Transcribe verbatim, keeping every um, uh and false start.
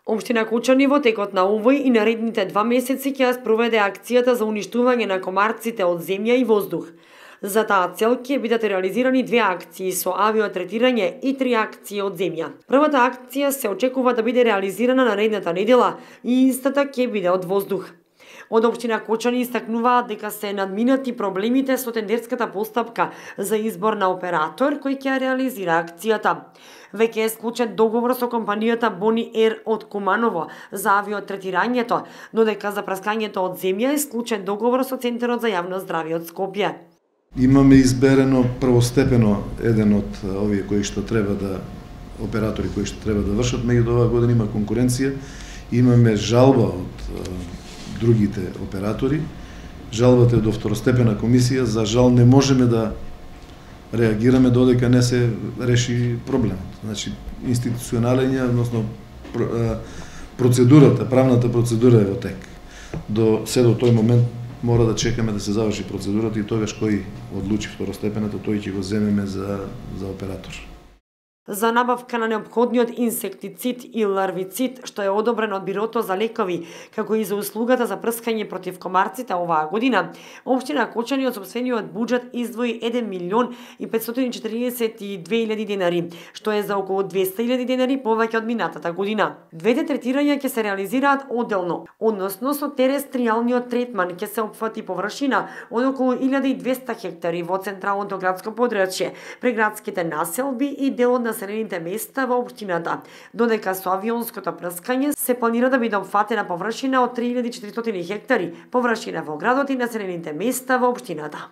Општина Кочани во текот на овој и наредните два месеци ќе ја спроведе акцијата за уништување на комарците од земја и воздух. За таа цел ќе бидат реализирани две акции со авиотретирање и три акции од земја. Првата акција се очекува да биде реализирана наредната недела и истата ќе биде од воздух. Од општина Кочани истакнуваат дека се надминати проблемите со тендерската постапка за избор на оператор кој ќе реализира акцијата. Веќе е склучен договор со компанијата Бони Ер од Куманово за авиотретирањето, додека за праскањето од земја е склучен договор со Центарот за јавно здравје од Скопје. Имаме изберено првостепено еден од овие кои што треба да оператори кои што треба да вршат, меѓутоа оваа година има конкуренција, имаме жалба од другите оператори. Жалбата е до второстепена комисија, за жал не можеме да реагираме додека не се реши проблемот. Значи, институционален, односно процедурата, правната процедура е во тек. До се до тој момент мора да чекаме да се заврши процедурата и тогаш кој одлучи второстепената, тој ќе го земеме за, за оператор. За набавка на неопходниот инсектицид и ларвицид, што е одобрен од Бирото за лекови, како и за услугата за прскање против комарците оваа година, општина Кочани од сопствениот буџет издвои еден милион и петстотини и четиридесет и две илјади денари, што е за околу двесте илјади денари повеќе од минатата година. Двете третирања ќе се реализираат одделно, односно со терестријалниот третман ќе се опфати површина од околу илјада и двесте хектари во централното градско подрачје, преградските населби и делот на населените места во општината, додека со авионското прскање се планира да биде опфатена површина од три илјади и четиристотини хектари, површина во градот и населените места во општината.